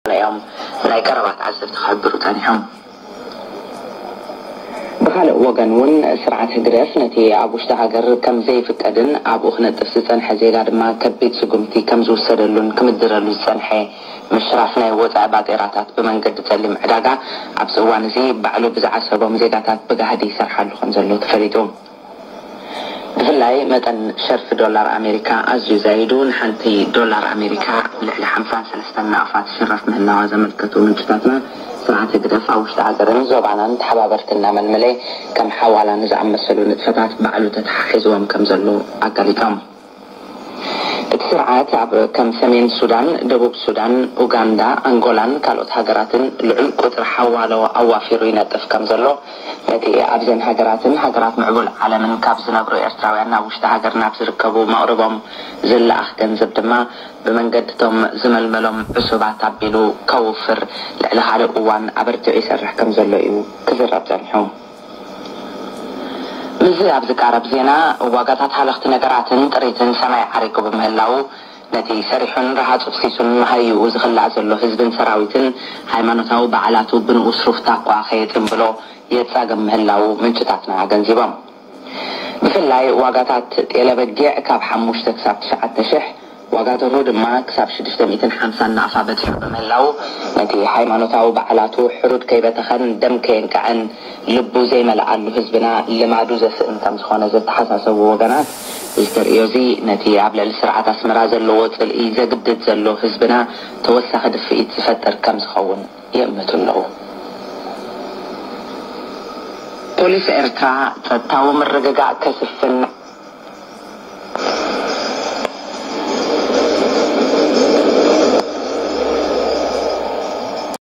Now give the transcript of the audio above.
እዮም ናይ ቀረባ ተዓዘብቲ ክሕብሩ ጸኒሖም። ብኻልእ ወገን እውን ስርዓት ህግደፍ ነቲ ኣብ ውሽጢ ሃገር ከም ዘይፍቀድን ኣብኡ ክነጥፍ ዝጸንሐ ዜጋ ድማ ከቢድ ስጉምቲ ከም ዝውሰደሉን ክምድረሉ ዝጸንሐ ምሽራፍ ናይ ወጻኢ ባጤራታት ብመንገዲ ጸሊም ዕዳጋ ኣብዚ እዋን እዚ ባዕሉ ብዝዓሰቦም ዜጋታት ብጋህዲ ይሰርሓሉ ከም ዘሎ ተፈሊጡ። ብፍላይ መጠን ሸርፊ ዶላር ኣሜሪካ ኣዝዩ ዛይዱ፣ ንሓንቲ ዶላር ኣሜሪካ ልዕሊ ሓምሳን ሰለስተን ናቕፋ ትሽረፍ ምህላዋ ዘመልከቱ ምንጭታትና፣ ስርዓት ህግደፍ ኣብ ውሽጢ ሃገርን ዞባናን ተሓባበርቲ እናመልመለ ከም ሓዋላ ንዝኣመሰሉ ንጥፈታት ባዕሉ ተተሓሒዝዎም ከም ዘሎ ኣጋሊጾም። እቲ ስርዓት ኣብ ከም ሰሜን ሱዳን፣ ደቡብ ሱዳን፣ ኡጋንዳ፣ ኣንጎላን ካልኦት ሃገራትን ልዑል ቁጽሪ ሓዋሎ ኣዋፊሩ ይነጥፍ ከም ዘሎ፣ ነቲ ኣብዘን ሃገራትን ሃገራት ምዕቡል ዓለምን ካብ ዝነብሩ ኤርትራውያን ናብ ውሽጢ ሃገር ናብ ዝርከቡ መቕርቦም ዝለኣኽ ገንዘብ ድማ ብመንገድቶም ዝመልመሎም ዕሱባት ኣቢሉ ከውፍር ልዕሊ ካልእ እዋን ኣበርቲዑ ይሰርሕ ከም ዘሎ እዩ ክዝረብ ጸኒሑ። ምስዚ ኣብ ዝቃረብ ዜና፣ ዋጋታት ሃለኽቲ ነገራትን ጥሪትን ሰማይ ዓሪጉ ብምህላዉ፣ ነቲ ሰሪሑን ረሃጹ ፍሲሱን መሃይኡ ዝኽላእ ዘሎ ህዝብን ሰራዊትን ሃይማኖታዊ በዓላቱ ብንኡስ ሩፍታ እኳ ከየጽንብሎ የጻግም ምህላዉ ምንጭታትና ኣገንዚቦም። ብፍላይ ዋጋታት ጤለ በጊዕ ካብ ሓሙሽተ ክሳብ ትሽዓተ ሽሕ፣ ዋጋ ደርሆ ድማ ክሳብ ሽዱሽተ ሚእትን ሓምሳን ናቕፋ በጺሑ ብምህላዉ፣ ነቲ ሃይማኖታዊ በዓላቱ ሕሩድ ከይበተኸን ደም ከየንቀዐን ልቡ ዘይመልኣሉ ህዝብና ልማዱ ዘስእን ከም ዝኾነ ዘተሓሳሰቡ ወገናት፣ እዚ ተርእዮ እዚ ነቲ ኣብ ልዕሊ ስርዓት ኣስመራ ዘለዎ ጽልኢ ዘግድድ ዘሎ ህዝብና ተወሳኺ ድፍኢት ዝፈጥር ከም ዝኸውን ይእምቱ ኣለዉ። ፖሊስ ኤርትራ ጸጥታዊ ምርግጋእ ከስፍን